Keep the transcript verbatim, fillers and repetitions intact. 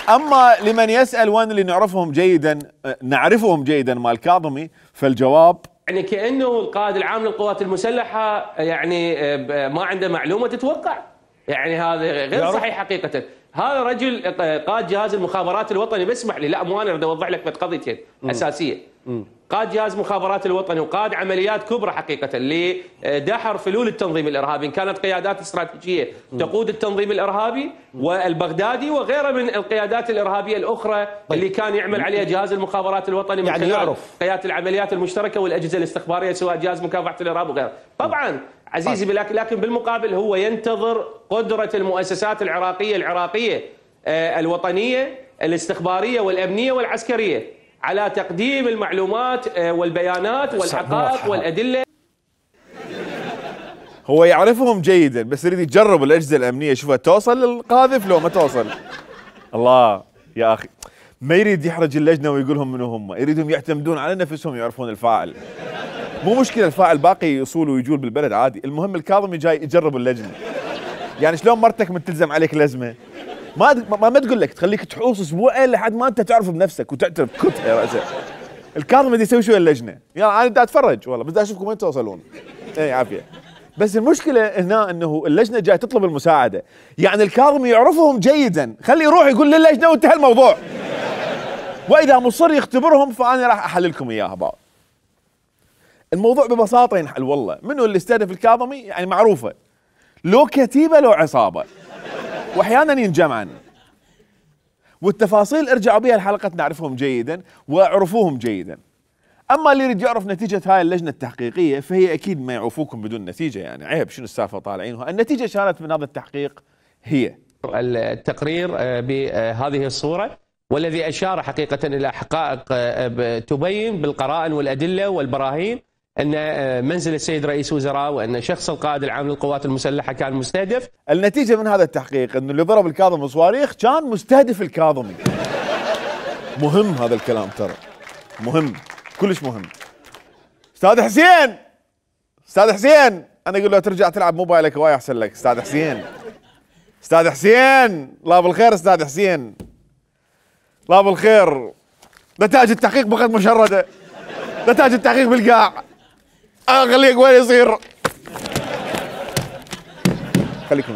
اما لمن يسال وين اللي نعرفهم جيدا نعرفهم جيدا مال كاظمي، فالجواب يعني كانه القائد العام للقوات المسلحه يعني ما عنده معلومه تتوقع، يعني هذا غير صحيح حقيقه. هذا رجل قائد جهاز المخابرات الوطني، بسمح لي، لا مو انا اريد اوضح لك قضيتين اساسيه. م. قائد جهاز مخابرات الوطني وقائد عمليات كبرى حقيقه لدحر فلول التنظيم الارهابي، ان كانت قيادات استراتيجيه تقود التنظيم الارهابي والبغدادي وغيره من القيادات الارهابيه الاخرى طيب. اللي كان يعمل عليها جهاز المخابرات الوطني من يعني خلال يعرف قياده العمليات المشتركه والاجهزه الاستخباريه سواء جهاز مكافحه الارهاب وغيره. طبعا عزيزي طيب. لكن بالمقابل هو ينتظر قدره المؤسسات العراقيه العراقيه الوطنيه الاستخباريه والامنيه والعسكريه على تقديم المعلومات والبيانات والحقائق والادله. هو يعرفهم جيدا بس يريد يجرب الاجهزه الامنيه يشوفها توصل للقاذف لو ما توصل. الله يا اخي، ما يريد يحرج اللجنه ويقول لهم منو هم، يريدهم يعتمدون على نفسهم يعرفون الفاعل. مو مشكله الفاعل باقي يصول ويجول بالبلد عادي، المهم الكاظمي جاي يجرب اللجنه. يعني شلون مرتك من تلزم عليك لزمه ما ما, ما تقول لك، تخليك تحوص اسبوعين لحد ما انت تعرف بنفسك وتعترف كتها يا راسه. الكاظمي بدي يسوي شو اللجنه؟ يلا انا بدي اتفرج والله، بدي اشوفكم وين توصلون. اي عافيه. بس المشكله هنا انه اللجنه جاي تطلب المساعده، يعني الكاظمي يعرفهم جيدا، خليه يروح يقول للجنه وانتهى الموضوع. واذا مصر يختبرهم فانا راح احللكم اياها بعض. الموضوع ببساطه ينحل والله. منو اللي استهدف الكاظمي؟ يعني معروفه، لو كتيبه لو عصابه، واحيانا ينجمعن. والتفاصيل ارجعوا بها الحلقه نعرفهم جيدا واعرفوهم جيدا. اما اللي يريد يعرف نتيجه هاي اللجنه التحقيقيه فهي اكيد ما يعوفوكم بدون نتيجه، يعني عيب شنو السالفه طالعينها. النتيجه كانت من هذا التحقيق هي التقرير بهذه الصوره، والذي اشار حقيقه الى حقائق تبين بالقرائن والادله والبراهين ان منزل السيد رئيس وزراء وان شخص القائد العام للقوات المسلحه كان مستهدف. النتيجه من هذا التحقيق انه اللي ضرب الكاظمي صواريخ كان مستهدف الكاظمي. مهم هذا الكلام ترى، مهم كلش مهم. استاذ حسين، استاذ حسين، انا اقول له ترجع تلعب موبايلك هواي احسن لك. استاذ حسين، استاذ حسين، الله بالخير. استاذ حسين، الله بالخير. نتائج التحقيق بقت مشرده، نتائج التحقيق بالقاع. اخليك وين يصير؟ خليكم